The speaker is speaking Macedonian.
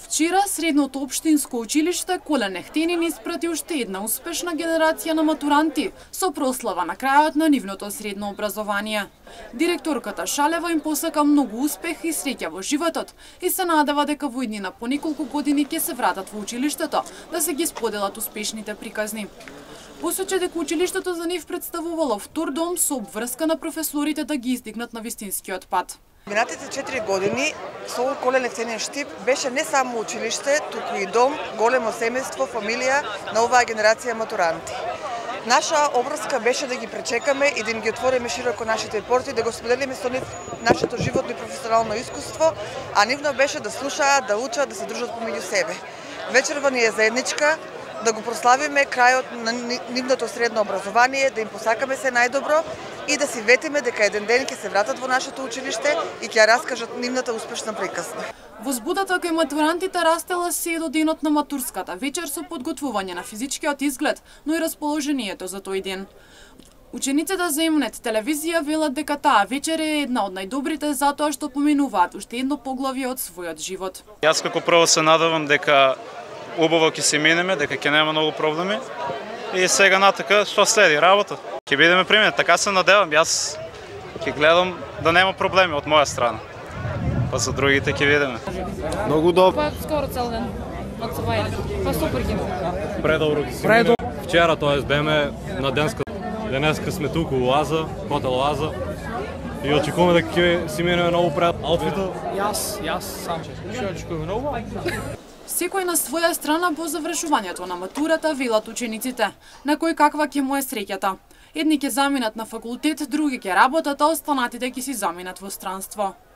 Вчера средното општинско училиште Колен Ехтенин испрати уште една успешна генерација на матуранти со прослава на крајот на нивното средно образование. Директорката Шалева им посака многу успех и среќа во животот и се надева дека во иднина по неколку години ќе се вратат во училиштето да се ги споделат успешните приказни. Посочи дека училиштето за нив представувало втор дом со обврска на професорите да ги издигнат на вистинскиот пат. Минатите 4 години СОУ Колен Ехтенин Штип беше не само училиште, туку и дом, големо семејство, фамилија на оваа генерација матуранти. Наша обврска беше да ги пречекаме и да им ги отвориме широко нашите порти, да го споделиме со нив нашето животно и професионално искуство, а нивно беше да слушаат, да учат, да се дружат помеѓу себе. Вечерва ни е заедничка, да го прославиме крајот на нивното средно образование, да им посакаме се најдобро и да си ветиме дека еден ден ќе се вратат во нашето училиште и ќе ја раскажат нивната успешна приказна. Возбудата кај матурантите растела се до денот на матурската вечер со подготвување на физичкиот изглед, но и расположението за тој ден. Учениците за М-нет телевизија велат дека таа вечер е една од најдобрите затоа што поминуваат уште едно поглавје од својот живот. Јас како прво се надевам дека убаво ќе се минеме, дека ќе нема многу проблеми и сега натака што следи работа. Ќе бидеме пример, така се надевам. Јас ќе гледам да нема проблеми од моја страна. Па за другите ќе видиме. Многу добро. Па скоро цел ден од Савајле. Па супер ги. Предобро ќе се мине. Вчера тоест беме на денеска сме туку во Лаза, хотел Лаза. И очекуваме дека ќе си минеме многу пред аутфитот. Јас сам ќе очекуваме многу. Секој на своја страна по завршувањето на матурата велат учениците, на кој каква ќе му е среќата. Едни ќе заминат на факултет, други ќе работат, а останатите ќе си заминат во странство.